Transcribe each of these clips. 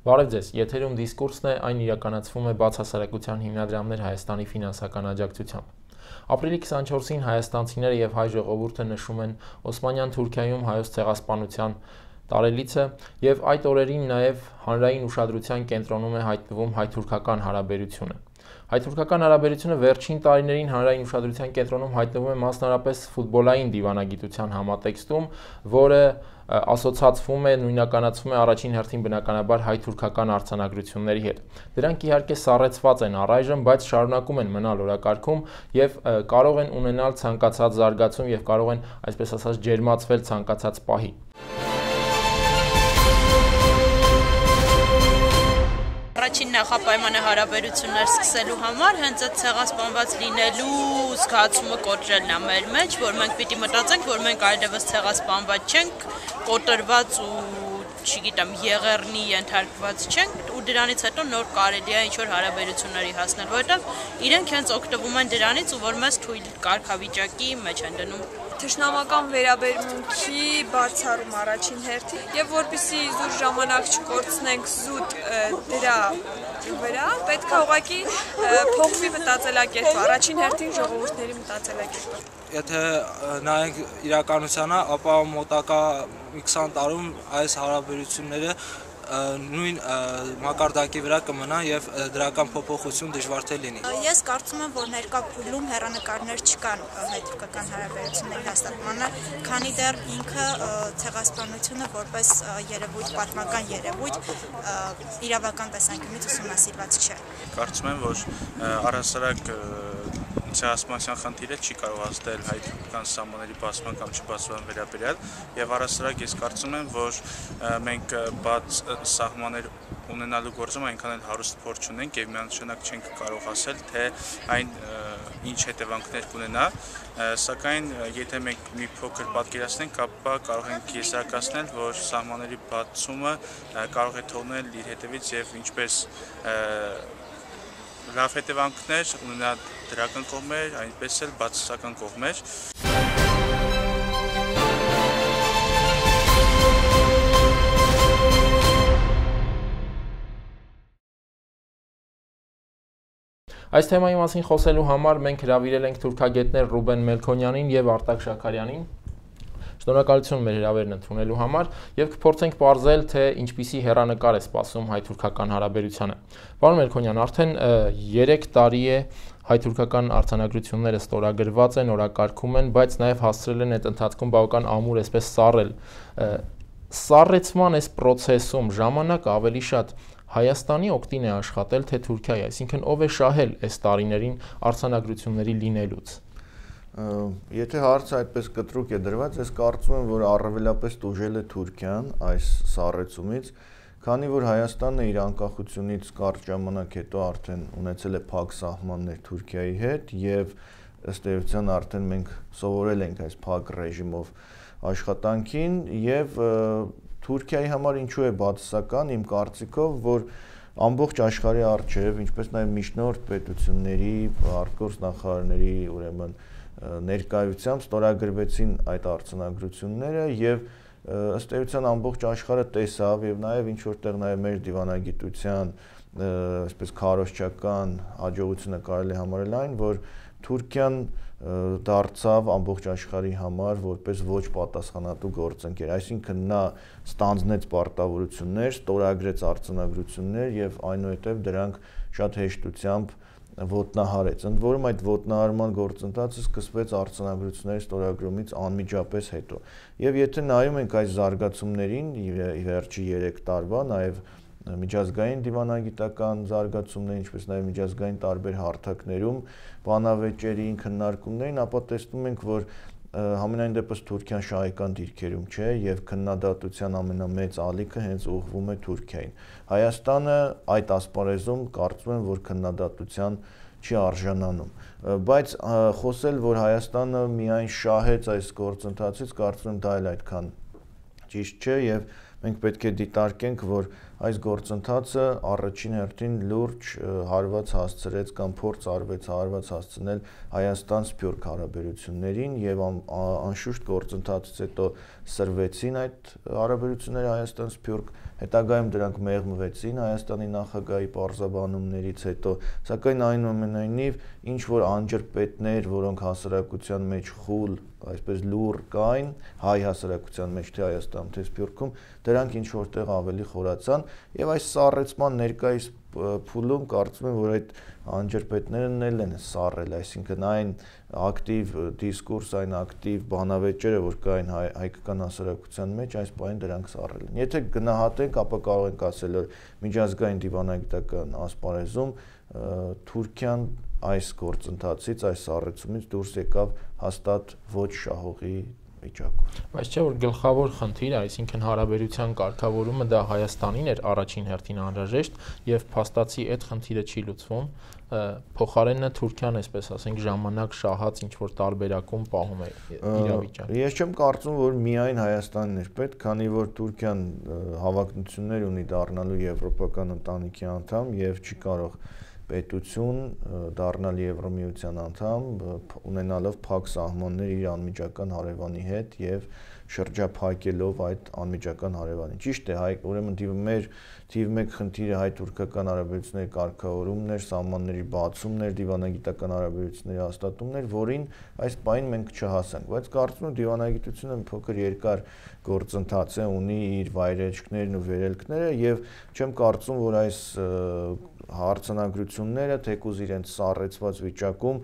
Բարև ձեզ, եթերում դիսկուրսն է, այն իրականացվում է բացահասարակության հիմնադրամներ Հայաստանի ֆինանսական աջակցությամբ։ Ապրիլի 24-ին հայաստանցիները եւ հայ ժողովուրդը նշում են Օսմանյան Թուրքիայում հայոց ցեղասպանության տարելիցը եւ այդ օրերին նաեւ հանրային ուշադրության կենտրոնում է հայտնվում հայ-թուրքական հարաբերությունը։ Հայ-թուրքական հարաբերությունը վերջին տարիներին հանրային ուշադրության կենտրոնում հայտնվում է մասնարարպես ֆուտբոլային դիվանագիտության համատեքստում, որը ասոցացվում է, նույնականացվում է առաջին հերթին բնականաբար հայ-թուրքական արձանագրությունների հետ։ Դրանք իհարկե սառեցված են առայժմ, բայց շարունակում են մնալ օրակարգում եւ կարող են ունենալ ցանկացած զարգացում եւ կարող են, այսպես ասած, ջերմացվել ցանկացած պահի։ Առաջին նախապայմանը հարաբերություններ սկսելու համար հենց այդ ցեղասպանված լինելու զգացումը կոտրելն է մեր մեջ, որ մենք պիտի մտածենք, որ մենք այլևս ցեղասպանված չենք, կոտրված ու չգիտեմ, եղեռնի ենթարկված չենք ու դրանից հետո նոր կարելի է ինչ-որ հարաբերությունների հասնել, որովհետև իրենք հենց օգտվում են դրանից ու որ մեզ թույլ կարգավիճակի մեջ են դնում։ Թշնամական վերաբերմունքի բացառում առաջին հերթին եւ որպեսզի զուր ժամանակ չկորցնենք զուտ դրա վրա, պետք է ուղղակի փոխվի մտածելակերպը, առաջին հերթին ժողովուրդների մտածելակերպը։ Եթե նայենք իրականությանը, ապա մոտակա 20 տարում այս հարաբերությունները նույն մակարդակի վրա կմնան եւ դրական փոփոխություն դժվար թե լինի։ Ես կարծում եմ, որ ներկա փուլում հեռանկարներ չկան հայ-թուրքական հարաբերությունների հաստատմանը, քանի դեռ ինքը ցեղասպանությունը որպես երևույթ, պատմական երևույթ իրավական տեսանկյունից ուսումնասիրված չէ։ Կարծում եմ, որ առհասարակ ցեղասպանության խնդիրը չի կարող հասնել հայ-թուրքական սահմանների բացման կամ չբացման վերաբերյալ եւ առհասարակ ես կարծում եմ, որ մենք բաց սահմաններ ունենալու գործում այնքան էլ հարուստ փորձ չունենք եւ միանշանակ չենք կարող ասել, թե այն ինչ հետևանքներ կունենա, սակայն եթե մենք մի փոքր պատկերացնենք, ապա կարող ենք եզրակացնել, որ սահմանների բացումը կարող է թողնել իր հետևից եւ ինչպես լավ հետևանքներ ունենա դրական կողմեր, այնպես էլ բացասական կողմեր։ Այս թեմայի մասին խոսելու համար մենք հրավիրել ենք թուրքագետներ Ռուբեն Մելքոնյանին եւ Արտակ Շաքարյանին։ Շնորհակալություն մեր հրավերն ընդունելու համար եւ կփորձենք ողջել, թե ինչպիսի հեռանկար է սպասում հայ-թուրքական հարաբերությանը։ Պարոն Մելքոնյան, արդեն 3 տարի է հայ-թուրքական արձանագրությունները ստորագրված են, օրակարգում են, բայց նաեւ հասցրել են այդ ընթացքում բավական ամուր, այսպես սառել։ Սառեցման այս process-ում ժամանակ ավելի շատ Հայաստանի օգտին է աշխատել, թե Թուրքիայի, այսինքն ով է շահել այս տարիներին արձանագրությունների լինելուց։ Եթե հարցը այդպես կտրուկ է դրված, ես կարծում եմ, որ առավելապես տուժել է Թուրքիան այս սառեցումից, քանի որ Հայաստանը իր անկախությունից կարճ ժամանակ հետո արդեն ունեցել է փակ սահմաններ Թուրքիայի հետ եւ ըստ էության արդեն մենք սովորել ենք այս փակ ռեժիմով աշխատանքին եւ Թուրքիայի համար ինչու է բացասական իմ կարծիքով, որ ամբողջ աշխարհի առջև, ինչպես նաեւ միջնորդ պետությունների, արտգործնախարարների, ուրեմն ներկայությամբ ստորագրվեցին այդ արձանագրությունները եւ ըստ էության ամբողջ աշխարհը տեսավ եւ նաեւ ինչ որտեղ նաեւ մեր դիվանագիտության այսպես քարոզչական հաջողությունը կարելի է համարել այն, որ Թուրքիան դարձավ ամբողջ աշխարհի համար որպես ոչ պատասխանատու գործընկեր, այսինքն նա ստանձնեց պարտավորություններ, ստորագրեց արձանագրություններ եւ այնուհետեւ դրանք շատ հեշտությամբ ոտնահարեց։ Ընդ որում այդ ոտնահարման գործընթացը սկսվեց արձանագրությունների ստորագրումից անմիջապես հետո։ Եվ եթե նայում ենք այս զարգացումներին վերջի 3 տարվա, նաեւ միջազգային դիվանագիտական զարգացումներ, ինչպես նաեւ միջազգային տարբեր հարթակներում բանավեճերի քննարկումներին, ապա տեսնում ենք, որ համենայն դեպս Թուրքիան շահեկան դիրքերում չէ եւ քննադատության ամենամեծ ալիքը հենց ուղղվում է Թուրքիային։ Հայաստանը այդ ասպարեզում կարծում եմ, որ քննադատության չի արժանանում, բայց խոսել, որ Հայաստանը միայն շահեց այս գործընթացից, կարծում եմ դա էլ այդքան ճիշտ չէ եւ մենք պետք է դիտարկենք, որ այս գործընթացը առաջին հերթին լուրջ հարված հասցրեց կամ փորձ արվեց հասցնել Հայաստան-Սփյուռք հարաբերություններին եւ անշուշտ գործընթացից հետո սրվեցին այդ հարաբերությունները Հայաստան-Սփյուռք, հետագայում դրանք մեղմվեցին Հայաստանի նախագահի պարզաբանումներից հետո, սակայն այնուամենայնիվ ինչ որ անջրպետներ, որոնք հասարակության մեջ խուլ, այսպես լուր կային, հայ հասարակության մեջ թե Հայաստանում, թե Սփյուռքում, դրանք ինչ որտեղ ավելի խորացան եւ այս սառեցման ներկայիս փուլում կարծում եմ, որ այդ անջրպետներն էլ են սառել, այսինքն այն ակտիվ դիսկուրս, այն ակտիվ բանավեճերը, որ կային հայկական հասարակության մեջ, այս պահին դրանք սառել են։ Եթե գնահատենք, ապա կարող ենք ասել, որ միջազգային դիվանագիտական ասպարեզում Թուրքիան այս գործընթացից, այս սառեցումից դուրս եկավ հաստատ ոչ շահողի վիճակում։ Բայց չէ որ գլխավոր խնդիրը, այսինքն հարաբերության կարգավորումը դա Հայաստանին էր առաջին հերթին անհրաժեշտ եւ փաստացի այդ խնդիրը չի լուծվում, փոխարենը Թուրքիան, այսպես ասենք, ժամանակ շահած ինչ որ տարբերակում պահում է իրավիճակը։ Ես չեմ կարծում, որ միայն Հայաստանն էր պետք, քանի որ Թուրքիան հավակնություններ ունի դառնալու եվրոպական ընտանիքի անդամ եւ չի կարող պետություն դառնալ Եվրոմիության անդամ, ունենալով փակ սահմաններ իր անմիջական հարևանի հետ եւ շրջափակելով այդ անմիջական հարևանին։ Ճիշտ է, ուրեմն մեր թիվ 1 խնդիրը հայ-թուրքական հարաբերությունների կարգավորումն էր, սահմանների բացումն էր, դիվանագիտական հարաբերությունների հաստատումն էր, որին այս պահին մենք չհասանք, բայց կարծում եմ դիվանագիտությունը մի փոքր երկար գործընթաց է, ունի իր վայրեջքներն ու վերելքները եւ չեմ կարծում, որ այս հարցանագրությունները թեկուզ իրենց սառեցված վիճակում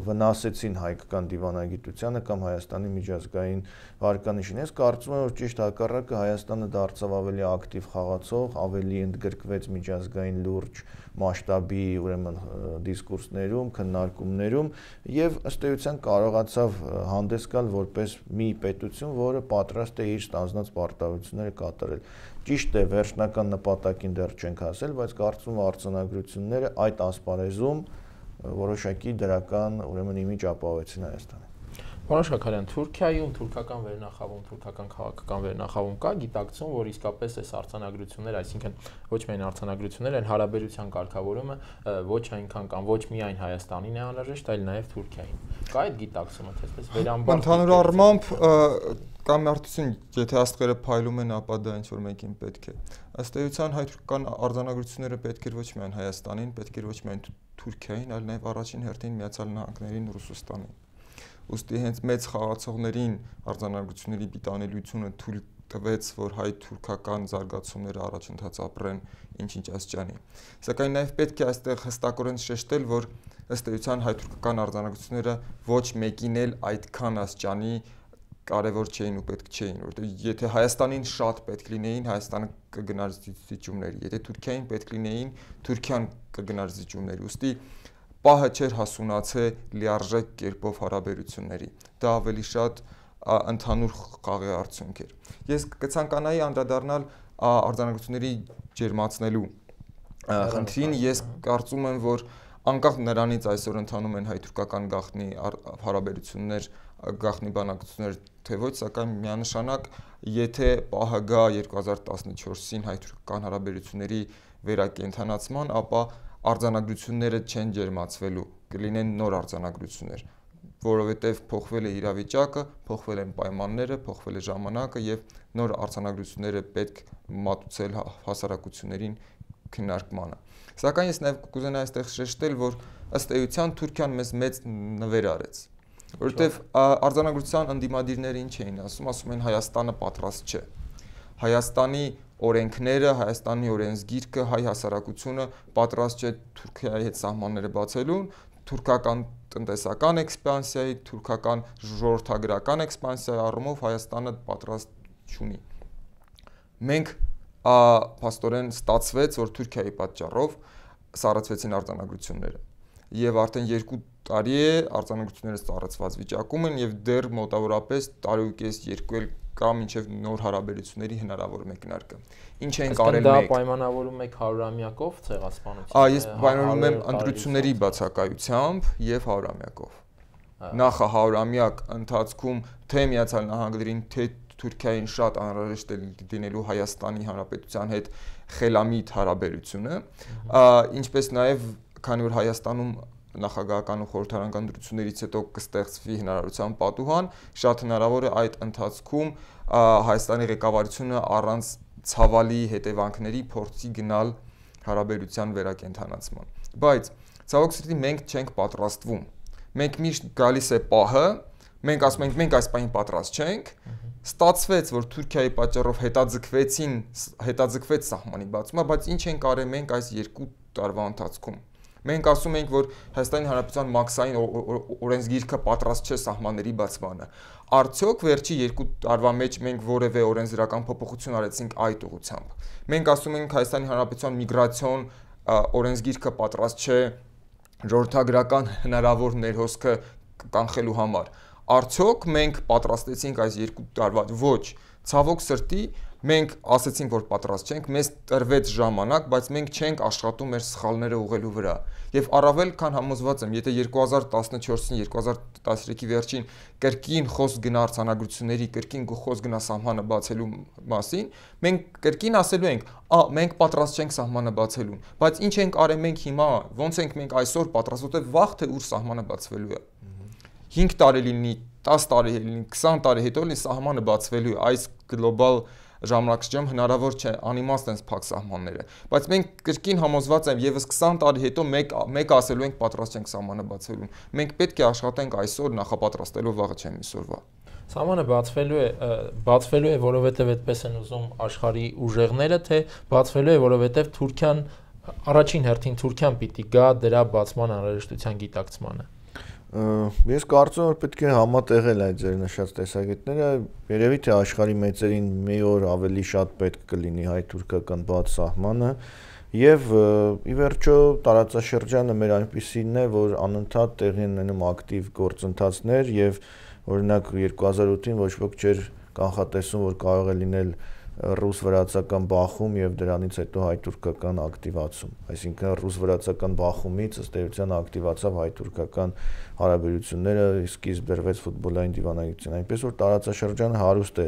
վնասեցին հայկական դիվանագիտությանը կամ Հայաստանի միջազգային վարկանիշին։ Ես կարծում եմ, որ ճիշտ հակառակը Հայաստանը դարձավ ավելի ակտիվ խաղացող, ավելի ընդգրկվեց միջազգային լուրջ մասշտաբի, ուրեմն դիսկուրսներում, քննարկումներում եւ ըստ էության կարողացավ հանդես գալ որպես մի պետություն, որը պատրաստ է իր ստանձնած պարտավորությունները կատարել։ Ճիշտ է, վերջնական նպատակին դեռ չենք հասել, բայց կարծում եմ արձանագրությունները այդ ասպարեզում որոշակի դրական, ուրեմն իմիջ ապահովեցին Հայաստանին։ Պարոն Շաքարյան, Թուրքիայում թուրքական վերնախավում, թուրքական քաղաքական վերնախավում կա գիտակցում, որ իսկապես այս արձանագրությունները, այսինքն ոչ միայն արձանագրությունները, այլ հարաբերության կարգավորումը ոչ այնքան կամ ոչ միայն Հայաստանին է անհրաժեշտ, այլ նաև Թուրքիային։ Կա այդ գիտակցումը, թե այսպես վերամբարձ։ Ընդհանուր առմամբ կամ արդյունքում, եթե աստղերը փայլում են, ապա դա ինչ որ մեկին պետք է։ Ըստ էության հայ-թուրքական արձանագրությունները պետք էր ոչ միայն Հայաստանին, պետք էր ոչ միայն Թուրքիային, այլ նաև առաջին հերթին Միացյալ Նահանգներին, Ռուսաստանին։ Ուստի հենց մեծ խաղացողներին արձանագրությունների պիտանելիությունը թույլ տվեց, որ հայ-թուրքական զարգացումները առաջընթաց ապրեն ինչ-ինչ աստիճանի։ Սակայն նաև պետք է այստեղ հստակորեն շեշտել, որ ըստ էության հայ-թուրքական արձանագրությունները ոչ մեկին էլ այդքան աստիճանի կարևոր չէին ու պետք չէին, որովհետեւ եթե Հայաստանին շատ պետք լինեին, Հայաստանը կգնար զիջումների, եթե Թուրքիային պետք լինեին, Թուրքիան կգնար զիջումների։ Ուստի պահը չէր հասունացե լիարժեք կերպով հարաբերությունների։ Դա ավելի շատ ընդհանուր խաղի արդյունք էր։ Ես կցանկանայի անդրադառնալ արձանագրությունների ջերմացնելու խնդրին, ես կարծում եմ, որ անկախ նրանից այսօր ընթանում են հայ-թուրքական գաղտնի հարաբերություններ, գաղտնի բանակցություններ, թե ոչ, սակայն միանշանակ, եթե պահը գա 2014-ին հայ-թուրքական հարաբերությունների վերակենդանացման, ապա արձանագրությունները չեն ջերմացվելու, կլինեն նոր արձանագրություններ, որովհետև փոխվել է իրավիճակը, փոխվել են պայմանները, փոխվել է ժամանակը եւ նոր արձանագրությունները պետք մատուցել հասարակություններին քննարկմանը։ Սակայն ես նաև կուզենայի այստեղ շեշտել, որ ըստ էության Թուրքիան մեծ նվեր արեց, որովհետև արձանագրության ընդդիմադիրները ինչ էին ասում են Հայաստանը պատրաստ չէ։ Հայաստանի օրենքները, Հայաստանի օրենսգիրքը, հայ հասարակությունը պատրաստ չէ Թուրքիայի հետ սահմանները բացելուն, թուրքական տնտեսական էքսպանսիայի, թուրքական ժողովրդագրական էքսպանսիայի առումով Հայաստանը պատրաստ չունի։ Մենք փաստորեն ստացվեց, որ Թուրքիայի պատճառով սառեցվեցին արձանագրությունները եւ արդեն 2 տարի է արձանագրությունները սառեցված վիճակում են եւ դեռ մոտավորապես տարուկես 2 էլ կա մինչեւ նոր հարաբերությունների հնարավոր մեկնարկը։ Ինչ են կարել մենք։ Դա պայմանավորում եք 100-ամյակով ցեղասպանություն։ Ես պայմանավորում եմ ընտրությունների բացակայությամբ եւ 100-ամյակով։ Նախ 100-ամյակ ընթացքում թե Միացյալ Նահանգներին, թե Թուրքիային շատ անհրաժեշտ է լինելու Հայաստանի Հանրապետության հետ խելամիտ հարաբերությունը, ինչպես նաև քանի որ Հայաստանում նախագահական ու խորհրդարանական դրություններից հետո կստեղծվի հնարավորության պատուհան, շատ հնարավոր է այդ ընթացքում Հայաստանի ղեկավարությունը առանց ցավալի հետևանքների փորձի գնալ հարաբերության վերակենդանացման։ Բայց ցավոք սրտի մենք չենք պատրաստվում։ Մենք միշտ գալիս է պահը, մենք ասում ենք մենք այս պահին պատրաստ չենք, ստացվեց, որ Թուրքիայի պատճառով հետաձգվեց սահմանի բացումը, բայց ինչ ենք արել մենք այս 2 տարվա ընթացքում։ Մենք ասում ենք, որ Հայաստանի Հանրապետության մաքսային օրենսգիրքը պատրաստ չէ սահմանների բացմանը։ Արդյոք վերջի 2 տարվա մեջ մենք որևէ օրենսդրական փոփոխություն արեցինք այդ ուղղությամբ։ Մենք ասում ենք Հայաստանի Հանրապետության միգրացիոն օրենսգիրքը պատրաստ չէ ժողովրդագրական հնարավոր ներհոսքը կանխելու համար։ Արդյոք մենք պատրաստեցինք այս 2 տարվա ոչ, ցավոք սրտի մենք ասացինք, որ պատրաստ չենք, մեզ տրվեց ժամանակ, բայց մենք չենք աշխատում մեր սխալները ուղղելու վրա։ Եվ առավել քան համոզված եմ, եթե 2014-ին 2013-ի վերջին կրկին խոսք գնա արձանագրությունների, կրկին խոսք գնա սահմանը բացելու մասին, մենք կրկին ասելու ենք, մենք պատրաստ չենք սահմանը բացելուն, բայց ինչ ենք արել մենք հիմա, ոնց ենք մենք այսօր պատրաստ, որտեղ վաղ թե ուր սահմանը բացվելու է։ 5 տարի լինի, 10 տարի լինի, 20 տարի հետո լինի սահմանը բացվելու է, այս գլոբալ ժամանակաշրջանում հնարավոր չէ անիմաստ են փակ սահմանները, բայց մենք կրկին համոզված եմ եւս 20 տարի հետո մեկ ասելու ենք պատրաստ ենք սահմանը բացվելուն։ Մենք պետք է աշխատենք այսօր նախապատրաստելով վաղը չեմ այսօրվա։ Սահմանը բացվելու է, որովհետև այդպես են ուզում աշխարհի ուժեղները, թե բացվելու է, որովհետև Թուրքիան առաջին հերթին Թուրքիան պիտի գա դրա բացման անհրաժեշտության գիտակցմանը։ Ես կարծում եմ, որ պետք է համատեղել այդ ձեր նշած տեսակետները, երևի թե աշխարհի մեծերին մի օր ավելի շատ պետք կլինի հայ-թուրքական բաց սահմանը, եւ ի վերջո տարածաշրջանը մեր այնպիսին է, որ անընդհատ տեղի են ունենում ակտիվ գործընթացներ եւ օրինակ 2008-ին ոչ ոք չէր կանխատեսում, որ կարող է լինել ռուս-վրացական բախում եւ դրանից հետո հայ-թուրքական ակտիվացում, այսինքն ռուս-վրացական բախումից ըստ էության ակտիվացավ հայ-թուրքական հարաբերությունները, սկիզբ բերվեց ֆուտբոլային դիվանագիտության, այնպես որ տարածաշրջանը հարուստ է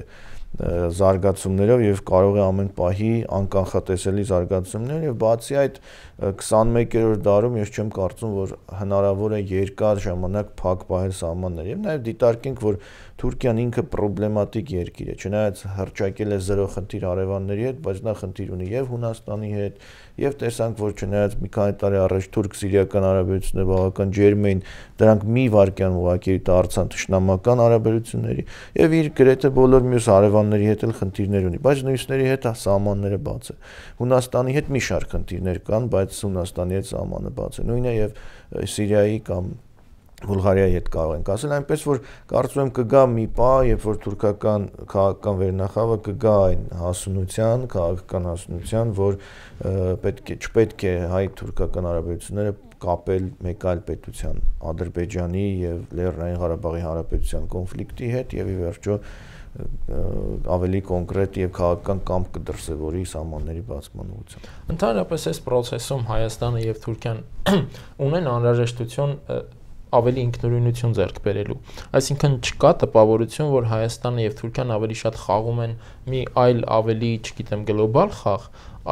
զարգացումներով եւ կարող է ամեն պահի անկանխատեսելի զարգացումներ եւ բացի այդ 21-րդ դարում ես չեմ կարծում, որ հնարավոր է երկար ժամանակ փակ պահել սահմաններ եւ նաեւ դիտարկենք, որ Թուրքիան ինքը պրոբլեմատիկ երկիր է, չնայած հռչակել է զրո խնդիր հարևանների հետ, բայց նա խնդիր ունի եւ Հունաստանի հետ, եւ տեսանք, որ չնայած մի քանի տարի առաջ թուրք-սիրիական հարաբերությունները բավական ջերմ էին, դրանք մի վայրկյան ուղղակի դարձան թշնամական հարաբերությունների եւ իր գրեթե բոլոր մյուս հարևանների հետ էլ խնդիրներ ունի, բայց նույնիսների հետ սահմանները բաց է։ Հունաստանի հետ մի շարք խնդիրներ կան, բայց Հունաստանի հետ սահմանը բաց է։ Նույնը եւ Սիրիայի կամ Բուլղարիայի հետ կարող ենք ասել, այնպես որ կարծում եմ կգա մի պահ, երբ որ թուրքական քաղաքական վերնախավը կգա այն հասունության, քաղաքական հասունության, որ չպետք է հայ-թուրքական հարաբերությունները կապել մեկ այլ պետության, Ադրբեջանի եւ Լեռնային Ղարաբաղի հանրապետության կոնֆլիկտի հետ եւ ի վերջո ավելի կոնկրետ եւ քաղաքական կամք կդրսևորի սահմանների բացման ուղղությամբ։ Ընդհանրապես այս process-ում Հայաստանը եւ Թուրքիան ունեն անհրաժեշտություն ավելի ինքնուրույնություն ձեռք բերելու։ Այսինքն չկա տպավորություն, որ Հայաստանը եւ Թուրքիան ավելի շատ խաղում են մի այլ ավելի, չգիտեմ, գլոբալ խաղ,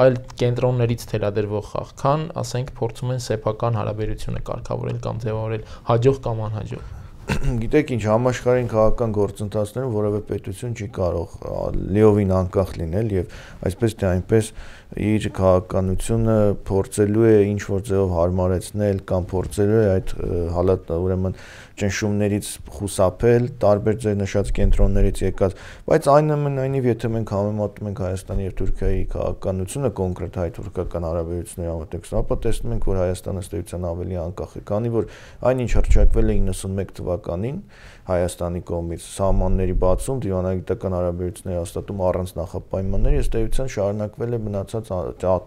այլ կենտրոններից թելադրվող խաղ, քան, ասենք, փորձում են սեփական հարաբերությունը կարգավորել կամ ձևավորել հաջող կամ անհաջող։ Գիտեք ինչ, համաշխարհային քաղաքական գործընթացներում որևէ պետություն չի կարող լիովին անկախ լինել եւ այսպես թե այնպես իր քաղաքականությունը փորձելու է ինչ որ ձևով հարմարեցնել կամ փորձելու է այդ ուրեմն ճնշումներից խուսափել, տարբեր ձեր նշած կենտրոններից եկած, բայց այնուամենայնիվ եթե մենք համեմատում ենք Հայաստանի եւ Թուրքիայի քաղաքականությունը կոնկրետ հայ-թուրքական հարաբերությունների համատեքստում, ապա տեսնում ենք, որ Հայաստանը ըստ էության ավելի անկախ է, քանի որ այնինչ հռչակվել է 91 թվականին Հայաստանի կողմից սահմանների բացում, դիվանագիտական հարաբերությունների հաստատում առանց նախապայմանների, ըստ էության շարունակվել է մնացած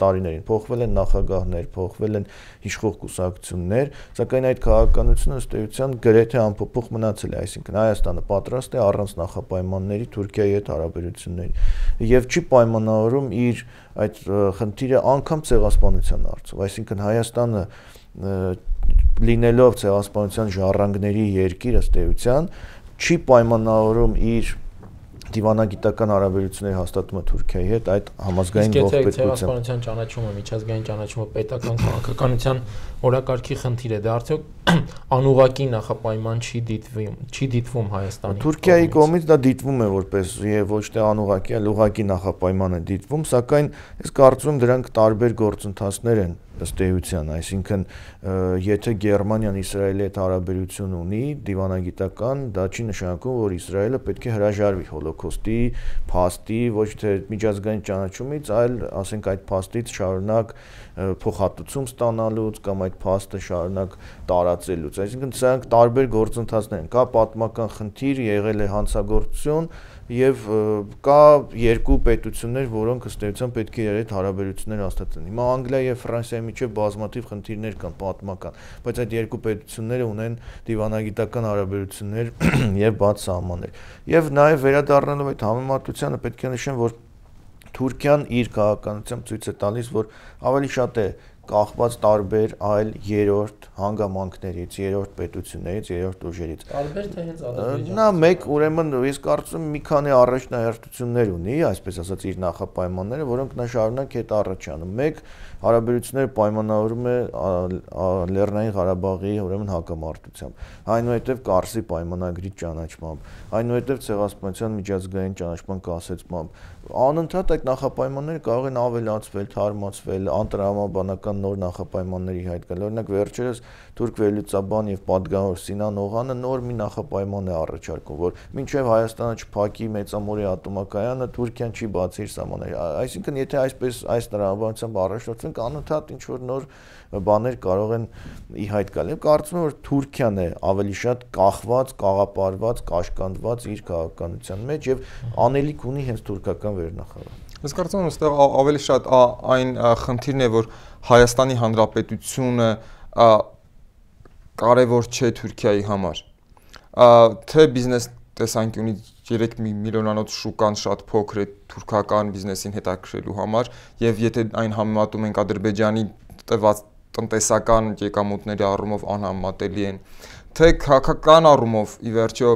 տարիներին, փոխվել են նախագահներ, փոխվել են իշխող կուսակցություններ, սակայն այդ քաղաքականությունը ըստ էության գրեթե անփոփոխ մնացել է, այսինքն Հայաստանը պատրաստ է առանց նախապայմանների Թուրքիայի հետ հարաբերությունների եւ չի պայմանավորում իր այդ խնդիրը անգամ ցեղասպանության հարցով, այսինքն Հայաստանը լինելով ցեղասպանության ժառանգների երկիր ըստ էության չի պայմանավորում իր դիվանագիտական հարաբերությունների հաստատումը Թուրքիայի հետ այդ համազգային ողբերգությամբ ցեղասպանության ճանաչումը, միջազգային ճանաչումը պետական քաղաքականության օրակարգի խնդիր է, դա արդյոք անուղղակի նախապայման չի դիտվում Հայաստանի Թուրքիայի կողմից դա դիտվում է որպես եւ ոչ թե անուղղակի, այլ ուղղակի նախապայման է դիտվում, սակայն ես կարծում եմ դրանք տարբեր գործընթացներ են ըստ էության, այսինքն եթե Գերմանիան Իսրայելի հետ հարաբերություն ունի դիվանագիտական, դա չի նշանակում, որ Իսրայելը պետք է հրաժարվի հոլոկոստի փաստի, ոչ թե միջազգային ճանաչումից, այլ ասենք այդ փաստից շարունակ փոխհատուցում ստանալուց կամ այդ փաստը շարունակ տարածելուց, այսինքն սրանք տարբեր գործընթացներ են, կա պատմական խնդիր, եղել է հանցագործություն եւ կա երկու պետություններ, որոնք ըստ էության պետք է իրար հետ հարաբերություններ հաստատեն։ Հիմա Անգլիայի եւ Ֆրանսիայի միջեւ բազմաթիվ խնդիրներ կան պատմական, բայց այդ երկու պետությունները ունեն դիվանագիտական հարաբերություններ եւ բաց սահմաններ։ Եվ նաեւ վերադառնալով այդ համեմատությանը պետք է նշեմ, որ Թուրքիան իր քաղաքականությամբ ցույց է տալիս, որ ավելի շատ է կախված տարբեր այլ երրորդ հանգամանքներից, երրորդ պետություններից, երրորդ ուժերից։ Տարբեր թե հենց Ադրբեջանը։ Նա մեկ ուրեմն ես կարծում եմ մի քանի առաջնահերթություններ ունի, այսպես ասած իր նախապայմանները, որոնք նա շարունակ հետ առաջանում։ Մեկ հարաբերությունները պայմանավորում է Լեռնային Ղարաբաղի ուրեմն հակամարտությամբ, այնուհետև Կարսի պայմանագրի ճանաչմամբ, այնուհետև ցեղասպանության միջազգային ճանաչման կասեցմամբ։ Անընդհատ այդ նախապայմանները կարող են ավելացվել, թարմացվել, անտրամաբանական նոր նախապայմանների հայտ գալ։ Օրինակ վերջերս թուրք վերլուծաբան եւ պատգամավոր Սինան Օղանը նոր մի նախապայման է առաջարկում, որ մինչեւ Հայաստանը չփակի մեծամորի ատոմակայանը, Թուրքիան չի բացի իր սահմանները։ Այսինքն, եթե այսպես այս տրամաբանությամբ առաջնորդվենք, անընդհատ ինչ որ նոր բաներ կարող են ի հայտ գալ։ Եվ կարծում եմ, որ Թուրքիան է ավելի շատ կախված, կաղապարված, կաշկանդված իր քաղաքականության մեջ եւ անելիք ունի հենց թուրքական վերնախավը։ Ես կարծում եմ, այստեղ ավելի շատ այն խնդիրն է, որ Հայաստանի Հանրապետությունը կարևոր չէ Թուրքիայի համար։ Թե բիզնես տեսանկյունից 3 միլիոնանոց շուկան շատ փոքր է թուրքական բիզնեսին հետաքրելու համար, եւ եթե այն համեմատում ենք Ադրբեջանի տված տնտեսական եկամուտների առումով անհամեմատելի են, թե քաղաքական առումով ի վերջո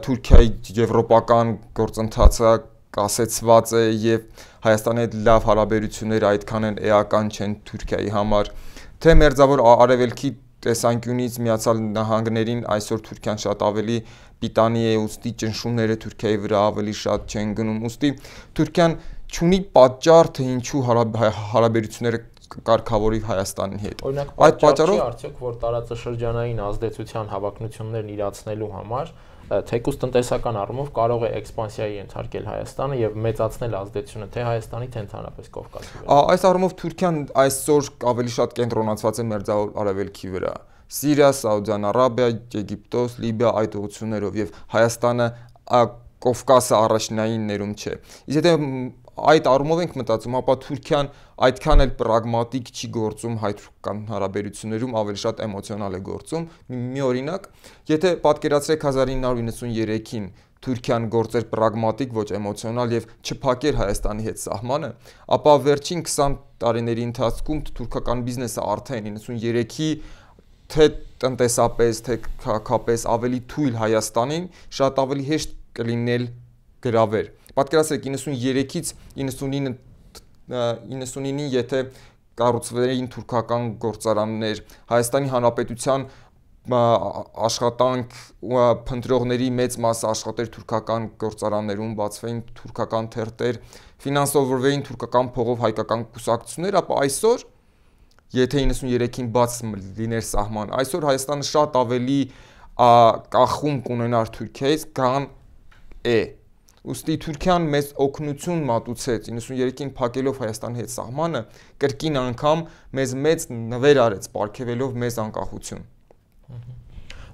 Թուրքիայի եվրոպական գործընթացը կասեցված է եւ Հայաստանի հետ լավ հարաբերությունները այդքան են էական չեն Թուրքիայի համար, թե մերձավոր արևելքի տեսանկյունից Միացյալ Նահանգներին այսօր Թուրքիան շատ ավելի պիտանի է, ուստի ճնշումները Թուրքիայի վրա ավելի շատ չեն գնում, ուստի Թուրքիան չունի պատճառ, թե ինչու հարաբերությունները կարգավորի Հայաստանի հետ։ Օրինակ, պատճառ չի արդյոք, որ տարածաշրջանային ազդեցության հավակնություններն իրացնելու համար թեկուզ տնտեսական առումով կարող է էքսպանսիայի ենթարկել Հայաստանը եւ մեծացնել ազդեցությունը թե Հայաստանի, թե ընդհանրապես Կովկասի վրա։ Այս առումով Թուրքիան այսօր ավելի շատ կենտրոնացված է մերձավոր արևելքի վրա։ Սիրիա, Սաուդյան Արաբիա, Եգիպտոս, Լիբիա այդ ուղղություններով եւ Հայաստանը Կովկասը առաջնային ներում չէ։ Իսկ եթե այդ առումով ենք մտածում, ապա Թուրքիան այդքան էլ պրագմատիկ չի գործում հայ-թուրքական հարաբերություններում, ավելի շատ էմոցիոնալ է գործում։ Մի օրինակ, եթե պատկերացրեք 1993-ին Թուրքիան գործեր պրագմատիկ, ոչ էմոցիոնալ եւ չփակեր Հայաստանի հետ սահմանը, ապա վերջին 20 տարիների ընթացքում թուրքական բիզնեսը արդեն 93-ի թե տնտեսապես, թե քաղաքապես ավելի թույլ Հայաստանին շատ ավելի հեշտ կլինել գրավել։ Պատկերացրեք 93-ից 99-ին եթե կառուցվեին թուրքական գործարաններ, Հայաստանի Հանրապետության աշխատանք փնտրողների մեծ մասը աշխատեր թուրքական գործարաններում, բացվեին թուրքական թերթեր, ֆինանսավորվեին թուրքական փողով հայկական կուսակցություններ, ապա այսօր եթե 93-ին բաց լիներ սահման, այսօր Հայաստանը շատ ավելի կախում կունենար Թուրքիայից, քան է։ Ուստի Թուրքիան մեծ օգնություն մատուցեց 93-ին փակելով Հայաստանի հետ սահմանը, կրկին անգամ մեծ նվեր արեց, պարգևելով մեզ անկախություն։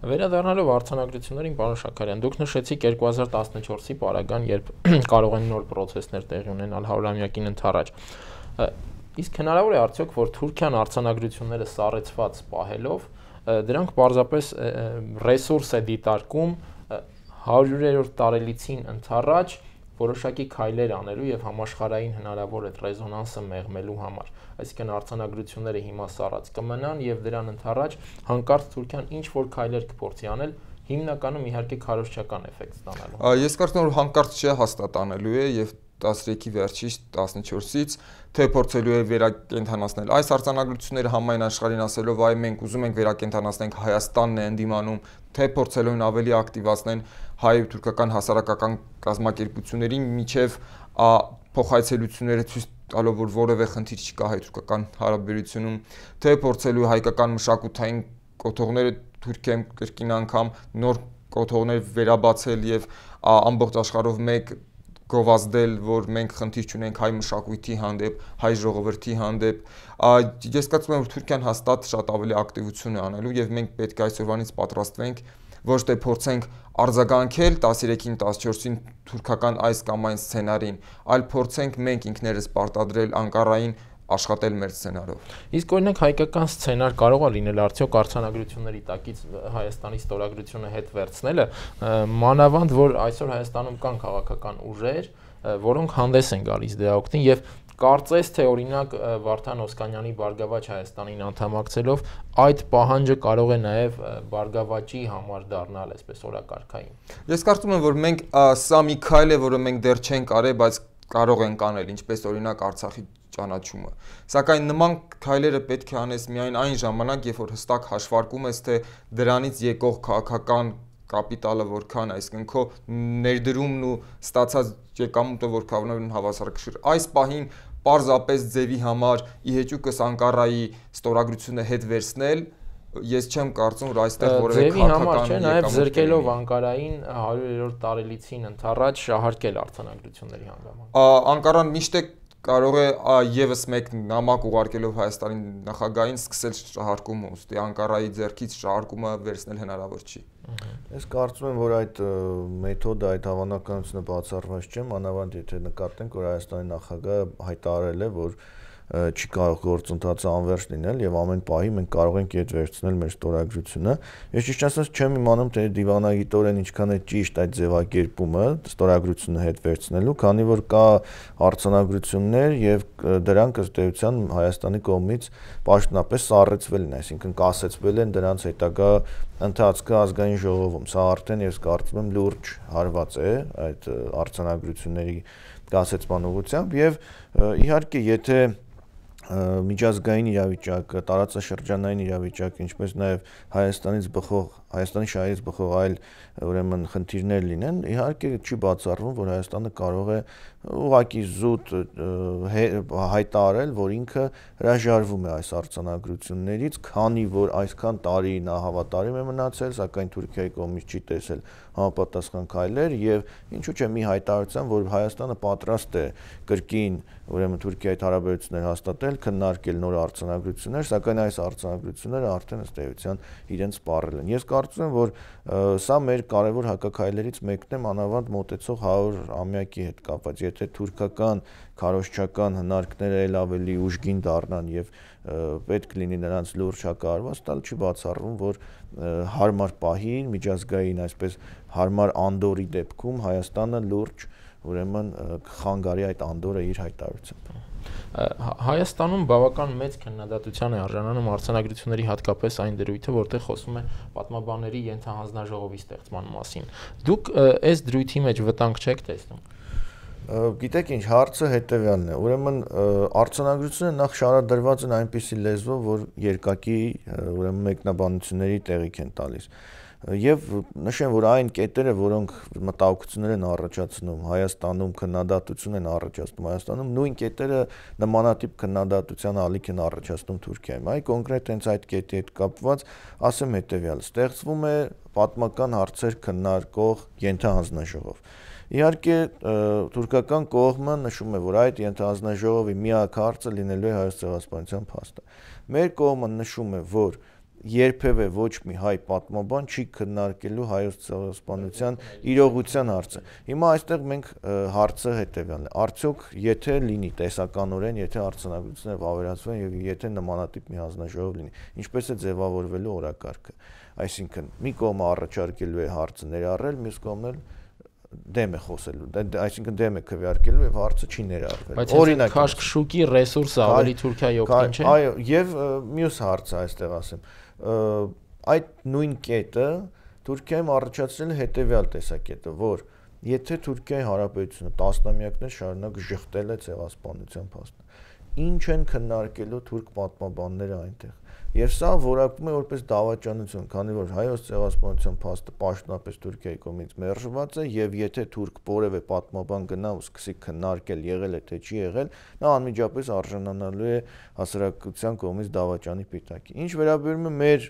Վերադառնալով արձանագրություններին, պարոն Շաքարյան, դուք նշեցիք 2014-ի պարագան, երբ կարող են նոր պրոցեսներ տեղի ունենալ 100-ամյակին ընդառաջ։ Իսկ հնարավոր է արդյոք, որ Թուրքիան արձանագրությունները սառեցված պահելով, դրանք պարզապես ռեսուրս է դիտարկում 100-րդ տարելիցին ընդառաջ որոշակի քայլեր անելու եւ համաշխարհային հնարավոր այդ ռեզոնանսը մեղմելու համար։ Այսինքն արձանագրությունները հիմա սառած կմնան եւ դրան ընդառաջ հանկարծ Թուրքիան ինչ որ քայլեր կփորձի անել հիմնականում իհարկե քարոզչական էֆեկտ ստանալու։ Ես կարծում եմ, որ հանկարծ չէ հաստատանելու է եւ 13-ի վերջից 14-ից թե փորձելու է վերակենդանացնել այս արձանագրությունները համայն աշխարհին ասելով այ մենք ուզում ենք վերակենդանացնենք Հայաստանն է ընդդիմանում, թե փորձելու են ավելի ակտիվացնեն հայ-թուրքական հասարակական կազմակերպությունների միջև փոխայցելությունները ցույց տալով որ որևէ խնդիր չկա հայ-թուրքական հարաբերությունում, թե փորձելու հայկական մշակութային կոթողները Թուրքիայում կրկին անգամ նոր կոթողներ վերաբացել եւ ամբողջ աշխարհով մեկ գովազդել, որ մենք խնդիր չունենք հայ մշակույթի հանդեպ, հայ ժողովրդի հանդեպ, ես կարծում եմ, որ Թուրքիան հաստատ շատ ավելի ակտիվություն է անելու եւ մենք պետք է այսօրվանից պատրաստվենք ոչ թե փորձենք արձագանքել 13-ին 14-ին թուրքական այս կամ այն սցենարին, այլ փորձենք մենք ինքներս պարտադրել Անկարային աշխատել մեր սցենարով։ Իսկ օրինակ հայկական սցենար կարող է լինել արդյոք արձանագրությունների տակից Հայաստանի ստորագրությունը հետ վերցնելը, մանավանդ որ այսօր Հայաստանում կան քաղաքական ուժեր, որոնք հանդես են գալիս դրա օգտին եւ կարծես թե օրինակ Վարդան Օսկանյանի Բարգավաճ Հայաստանին անդամակցելով այդ պահանջը կարող է նաև Բարգավաճի համար դառնալ այսպես օրակարգային։ Ես կարծում եմ, որ մենք սա մի քայլ է, որը մենք դեռ չենք արել, բայց կարող ենք անել, ինչպես օրինակ Արցախի ճանաչումը։ Սակայն նման քայլերը պետք է անես միայն այն ժամանակ, երբ որ հստակ հաշվարկում ես, թե դրանից եկող քաղաքական կապիտալը որքան, այսինքն քո ներդրումն ու ստացած եկամուտը որքան են հավասարակշիռ։ Այս պահին պարզապես ձևի համար իհեճուկս Անկարայի ստորագրությունը հետ վերցնել, ես չեմ կարծում, որ այստեղ որևէ քաղաքական չէ, նաև զրկելով Անկարային 100-րդ տարելիցին ընդառաջ շահարկել արձանագրությունների հանգամանք։ Անկարան միշտ է կարող է եւս մեկ նամակ ուղարկելով Հայաստանի նախագահին սկսել շահարկումը, ուստի Անկարայի ձեռքից շահարկումը վերցնել հնարավոր չի։ Ես կարծում եմ, որ այդ մեթոդը, այդ հավանականությունը բացառված չէ, մանավանդ եթե նկատենք, որ Հայաստանի նախագահը հայտարարել է, որ չի կարող գործընթացը անվերջ լինել եւ ամեն պահի մենք կարող ենք իդ վերցնել մեր ստորագրությունը։ Ես ճիշտ ասած չեմ իմանում, թե դիվանագիտորեն ինչքան է ճիշտ այդ ձևակերպումը ստորագրությունը հետ վերցնելու, քանի որ կա արձանագրություններ եւ դրանք ըստ էության Հայաստանի կողմից պաշտոնապես սառեցվել են, այսինքն կասեցվել են դրանց հետագա ընթացքը ազգային ժողովում։ Սա արդեն ես կարծում եմ լուրջ հարված է այդ արձանագրությունների կասեցման ուղղությամբ եւ իհարկե եթե միջազգային իրավիճակը, տարածաշրջանային իրավիճակը, ինչպես նաև Հայաստանի շահերից բխող այլ ուրեմն խնդիրներ լինեն, իհարկե չի բացառվում, որ Հայաստանը կարող է ուղղակի զուտ հայտարարել, որ ինքը հրաժարվում է այս արձանագրություններից, քանի որ այսքան տարի նա հավատարիմ է մնացել, սակայն Թուրքիայի կողմից չի տեսել համապատասխան քայլեր եւ ինչու՞ չէ մի հայտարարության, որ Հայաստանը պատրաստ է կրկին ուրեմն Թուրքիայի հետ հարաբերություններ հաստատել, քննարկել նոր արձանագրություններ, սակայն այս արձանագրությունները արդեն ըստ էության իրենց սպառել են։ Ես կարծում եմ, որ սա մեր կարևոր հակաքայլերից մեկն է մանավանդ մոտեցող 100-ամյակի հետ կապված։ Եթե թուրքական քարոզչական հնարքները ել ավելի ուժգին դառնան եւ պետք լինի նրանց լուրջ հակահարված տալ, չի բացառվում, որ հարմար պահին միջազգային այսպես հարմար անդորի դեպքում Հայաստանը լուրջ ուրեմն կխանգարի այդ անդորը իր հայտարարությամբ։ Հայաստանում բավական մեծ քննադատության է արժանանում արձանագրությունների հատկապես այն դրույթը, որտեղ խոսում է պատմաբանների ենթահանձնաժողովի ստեղծման մասին։ Դուք այս դրույթի մեջ վտանգ չեք տեսնում։ Գիտեք ինչ, հարցը հետևյալն է։ Ուրեմն արձանագրությունները նախ շարադրված են այնպիսի լեզվով, որ երկակի ուրեմն մեկնաբանությունների տեղիք են տալիս։ Եվ նշեմ, որ այն կետերը, որոնք մտահոգություններ են առաջացնում Հայաստանում, քննադատություն են առաջացնում Հայաստանում, նույն կետերը նմանատիպ քննադատության ալիք են առաջացնում Թուրքիայում։ Այ կոնկրետ հենց այդ կետի հետ կապված ասեմ հետևյալը. ստեղծվում է պատմական հարցեր քննարկող ենթահանձնաժողով։ Իհարկե թուրքական կողմը նշում է, որ այդ ենթահանձնաժողովի միակ հարցը լինելու է Հայոց ցեղասպանության փաստը։ Մեր կողմը նշում է, որ երբևէ ոչ մի հայ պատմաբան չի քննարկելու Հայոց ցեղասպանության իրողության հարցը։ Հիմա այստեղ մենք հարցը հետևյալն է. արդյոք եթե լինի տեսականորեն, եթե արձանագրությունները վավերացվեն եւ եթե նմանատիպ մի հանձնաժողով լինի, ինչպես է ձևավորվելու օրակարգը։ Այսինքն մի կողմը առաջարկելու է հարցը ներառել, մյուս կողմն էլ դեմ է խոսելու, այսինքն դեմ է քվեարկելու եւ հարցը չի ներառվել։ Օրինակ քաշքշուկի ռեսուրսը ավելի Թուրքիայի օգտին չէ։ Այո, եւ մյուս հարցը այստեղ ասեմ, այդ նույն կետը Թուրքիայում առաջացրել է հետևյալ տեսակետը, որ եթե Թուրքիայի Հանրապետությունը տասնամյակներ շարունակ ժխտել է ցեղասպանության փաստը, ինչ են քննարկելու թուրք պատմաբանները այնտեղ։ Եվ սա որակվում է որպես դավաճանություն, քանի որ հայոց ցեղասպանության փաստը պաշտոնապես Թուրքիայի կողմից մերժված է, եւ եթե թուրք որևէ պատմաբան գնա ու սկսի քննարկել եղել է թե չի եղել, նա անմիջապես արժանանալու է հասարակության կողմից դավաճանի պիտակի։ Ինչ վերաբերում է մեր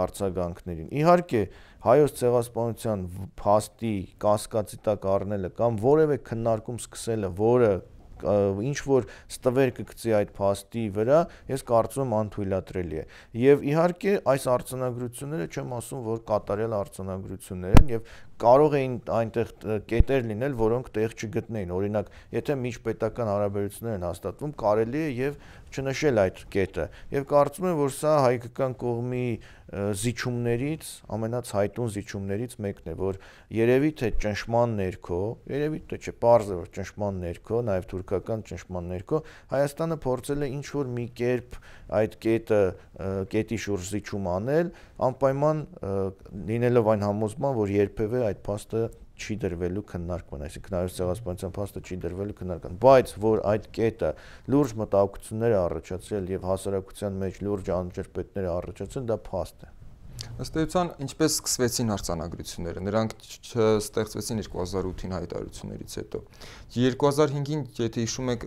արձագանքներին, իհարկե հայոց ցեղասպանության փաստի կասկածի տակ առնելը կամ որևէ քննարկում սկսելը, որը ինչ որ ստվեր կգցի այդ փաստի վրա, ես կարծում եմ անթույլատրելի է։ Եվ իհարկե այս արձանագրությունները չեմ ասում, որ կատարյալ արձանագրություններ են եւ կարող էին այնտեղ կետեր լինել, որոնք տեղ չգտնեին։ Օրինակ, եթե միջպետական հարաբերություններ են հաստատվում, կարելի է եւ չնշել այդ կետը։ Եվ կարծում եմ, որ սա հայկական կողմի զիջումներից, ամենացայտուն զիջումներից մեկն է, որ երևի թե ճնշման ներքո, երևի թե չէ, պարզ է, որ ճնշման ներքո, նաեւ թուրքական ճնշման ներքո Հայաստանը փորձել է ինչ որ մի կերպ այդ կետի շուրջ զիջում անել, անպայման լինելով այն համոզման, որ երբևէ այդ փաստը չի դրվելու քննարկման, այսինքն հայոց ցեղասպանության փաստը չի դրվելու քննարկման, բայց որ այդ կետը լուրջ մտահոգություններ է առաջացրել եւ հասարակության մեջ լուրջ անջրպետներ է առաջացրել, դա փաստ է։ Ըստ էության, ինչպես սկսվեցին արձանագրությունները, նրանք չստեղծվեցին 2008-ին հայտարարություններից հետո։ 2005-ին, եթե հիշում եք,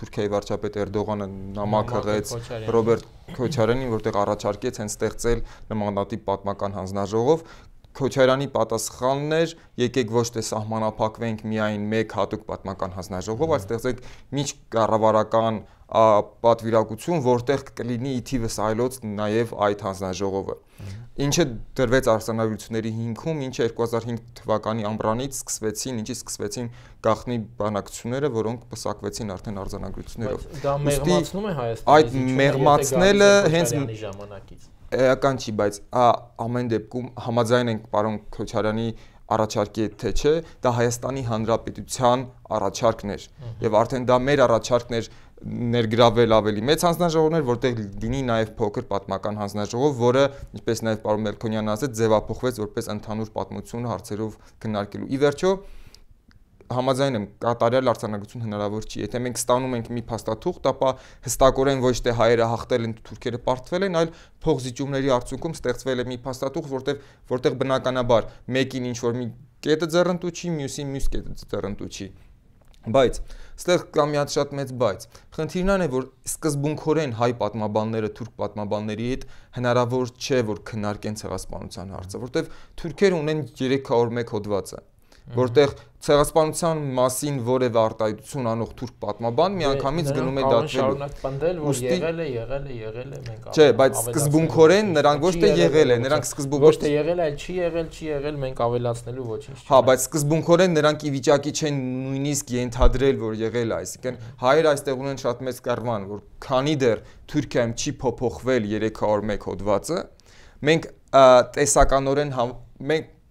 Թուրքիայի վարչապետ Էրդողանը նամակ հղեց Ռոբերտ Քոչարյանին, որտեղ առաջարկեց հենց ստեղծել նմանատիպ պատմական հանձնաժողով։ Քոչարյանի պատասխանն էր, եկեք ոչ թե սահմանափակվենք միայն մեկ հատուկ պատմական հանձնաժողով, այլ ստեղծենք միջկառավարական պատվիրակություն, որտեղ կլինի ի թիվս այլոց նաև այդ հանձնաժողովը։ Ինչը դրվեց արձանագրությունների հիմքում, ինչը 2005 թվականի ամռանից սկսվեցին, ինչից սկսվեցին գաղտնի բանակցությունները, որոնք պսակվեցին արդեն արձանագրություններով։ Դա մեղմացնում է Հայաստանի։ Այդ մեղմացնելը հենց ժամանակից էական չի, բայց ամեն դեպքում համաձայն ենք պարոն Քոչարյանի առաջարկի հետ թե չէ, դա Հայաստանի Հանրապետության առաջարկն էր եւ արդեն դա մեր առաջարկն էր ներգրավել ավելի մեծ հանձնաժողովներ, որտեղ լինի նաև փոքր պատմական հանձնաժողով, որը, ինչպես նաև պարոն Մելքոնյանն ասաց, ձևափոխվեց որպես ընդհանուր պատմություն հարցերով քննարկելու։ Ի վերջո համաձայն եմ, կատարյալ արձանագրություն հնարավոր չի։ Եթե մենք ստանում ենք մի փաստաթուղթ, ապա հստակորեն ոչ թե հայերը հաղթել են, թուրքերը պարտվել են, այլ փոխզիջումների արդյունքում ստեղծվել է մի փաստաթուղթ, որտեղ բնականաբար մեկին ինչ որ մի կետը ձեռնտու չի, մյուսին մյուս կետը ձեռնտու չի։ Բայց ստեղ կա մի հատ շատ մեծ բայց։ Խնդիրն այն է, որ սկզբունքորեն հայ պատմաբանները թուրք պատմաբանների հետ հնարավոր չէ, որ քննարկեն ցեղասպանության հարցը, որտեղ թուրքերը ունեն 301 հոդվածը, որտեղ ցեղասպանության մասին որևէ արտահայտություն անող թուրք պատմաբան միանգամից գնում է դատվելու։ Շարունակ պնդել, որ եղել է, մենք Չէ, բայց սկզբունքորեն նրանք ոչ թե եղել է, նրանք սկզբունքորեն ոչ թե եղել է, այլ չի եղել, մենք ավելացնելու ոչինչ չի։ Հա, բայց սկզբունքորեն նրանք ի վիճակի չեն նույնիսկ ենթադրել, որ եղել է, այսինքն հայերը այստեղ ունեն շատ մեծ կառվան, որ քանի դեռ Թուրքիայում չի փոփոխվել 301 հոդվածը, մենք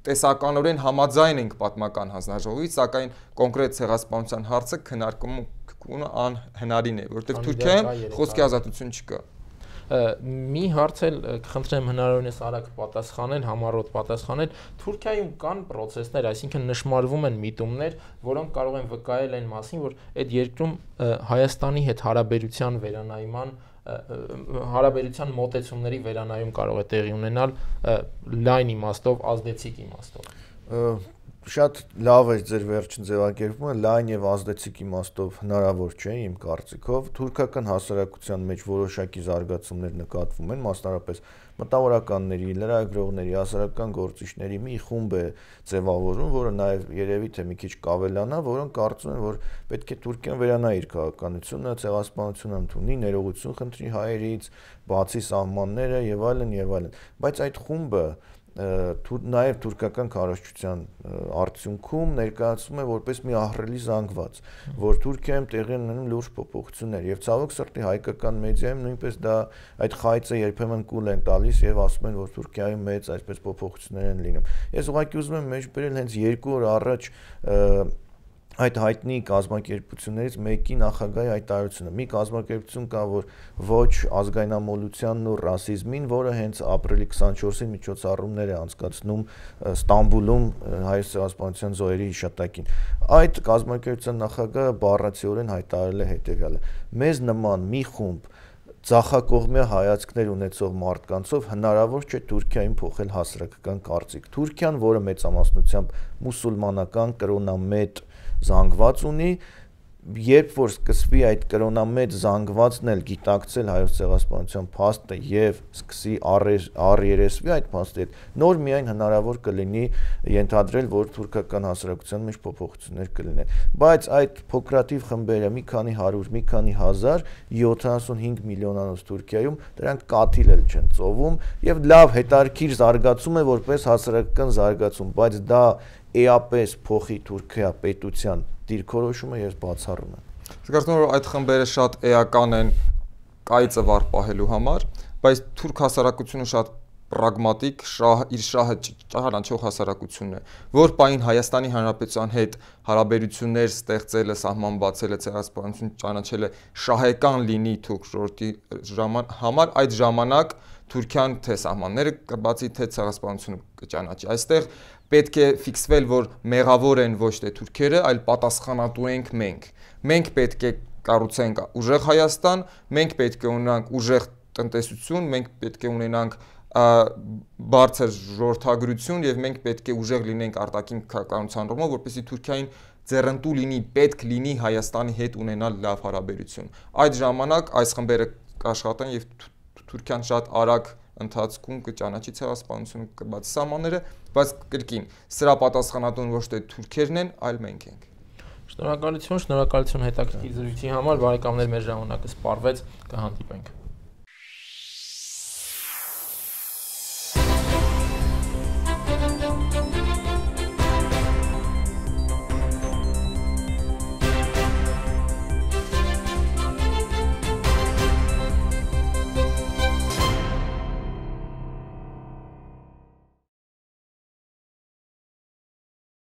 տեսականորեն համաձայն ենք պատմական հանձնաժողովից, սակայն կոնկրետ ցեղասպանության հարցը քննարկումը անհնարին է, որովհետև Թուրքիայում խոսքի ազատություն չկա։ Մի հարց էլ կխնդրեմ հնարավորինս արագ պատասխանել, համառոտ պատասխանել։ Թուրքիայում կան process-ներ, այսինքն նշмарվում են միտումներ, որոնք կարող են վկայել այն մասին, որ այդ երկրում Հայաստանի հետ հարաբերության մոտեցումների վերանայում կարող է տեղի ունենալ լայն իմաստով, ազդեցիկ իմաստով։ Շատ լավ է ձեր վերջին ձևակերպումը, լայն եւ ազդեցիկ իմաստով հնարավոր չէ իմ կարծիքով։ Թուրքական հասարակության մեջ որոշակի զարգացումներ նկատվում են, մասնավորապես մտավորականների, լրագրողների, հասարակական գործիչների մի խումբ է ձևավորում, որը նաեւ երևի թե մի քիչ կավելանա, որոնք կարծում են, որ պետք է Թուրքիան վերանայի իր քաղաքականությունը, ցեղասպանությունը ընդունի, ներողություն խնդրի հայերից, բացի սահմանները եւ այլն, բայց այդ խումբը նաև թուրքական քարոզչության արդյունքում ներկայացվում է որպես մի ահռելի զանգված, որ Թուրքիայում տեղի ունենում լուրջ փոփոխություններ եւ ցավոք սրտի հայկական մեդիայում նույնպես դա այդ խայծը երբեմն կուլ են տալիս եւ ասում են, որ Թուրքիայում մեծ այսպես փոփոխություններ են լինում։ Ես ուղղակի ուզում եմ մեջ բերել հենց 2 օր առաջ այդ հայտնի կազմակերպություններից մեկի նախագահի հայտարարությունը։ Մի կազմակերպություն կա, որ ոչ ազգայնամոլությանն ու ռասիզմին, որը հենց ապրիլի 24-ին միջոցառումներ է անցկացնում Ստամբուլում հայոց ցեղասպանության զոհերի հիշատակին։ Այդ կազմակերպության նախագահը բառացիորեն հայտարարել է հետևյալը. մեզ նման մի խումբ ձախակողմյա հայացքներ ունեցող մարդկանցով հնարավոր չէ Թուրքիային փոխել հասարակական կարծիք։ Թուրքիան, որը մեծամասնությամբ մուսուլմանական կրոնամետ զանգված ունի, երբ որ սկսվի այդ կրոնամետ զանգվածն էլ գիտակցել հայոց ցեղասպանության փաստը եւ սկսի առերեսվի այդ փաստի հետ, նոր միայն հնարավոր կլինի ենթադրել, որ թուրքական հասարակության մեջ փոփոխություններ կլինեն։ Բայց այդ փոքրաթիվ խմբերը մի քանի 100, մի քանի 1000, 75 միլիոնանոց Թուրքիայում դրանք կաթիլ էլ չեն ծովում եւ լավ հետարքիր զարգացում է որպես հասարակական զարգացում, բայց դա էապես փոխի Թուրքիա պետության դիրքորոշումը ես բացառում եմ։ Զգացում եմ, որ այդ խմբերը շատ էական են կայծը վառ պահելու համար, բայց թուրք հասարակությունը շատ պրագմատիկ, իր շահը ճանաչող հասարակությունն է, որ պահին Հայաստանի Հանրապետության հետ հարաբերություններ ստեղծելը, սահման բացելը, ցեղասպանություն ճանաչելը շահեկան լինի թուրք ժողովրդի համար, այդ ժամանակ Թուրքիան թե սահմանները կբացի, թե ցեղասպանությունը կճանաչի։ Այստեղ պետք է ֆիքսվել, որ մեղավոր են ոչ թե թուրքերը, այլ պատասխանատու ենք մենք։ Մենք պետք է կառուցենք ուժեղ Հայաստան, մենք պետք է ունենանք ուժեղ տնտեսություն, մենք պետք է ունենանք բարձր ժողովրդագրություն եւ մենք պետք է ուժեղ լինենք արտաքին քաղաքականության առումով, որպեսզի Թուրքիային ձեռնտու լինի, պետք լինի Հայաստանի հետ ունենալ լավ հարաբերություն։ Այդ ժամանակ այս խմբերը կաշխատեն եւ Թուրքիան շատ արագ ընթացքում կճանաչի ցեղասպանությունը, կբացի սահմանները, բայց կրկին սրա պատասխանատուն ոչ թե թուրքերն են, այլ մենք ենք։ Շնորհակալություն հետաքրքիր զրույցի համար, բարեկամներ, մեր ժամանակը սպառվեց, կհանդիպենք։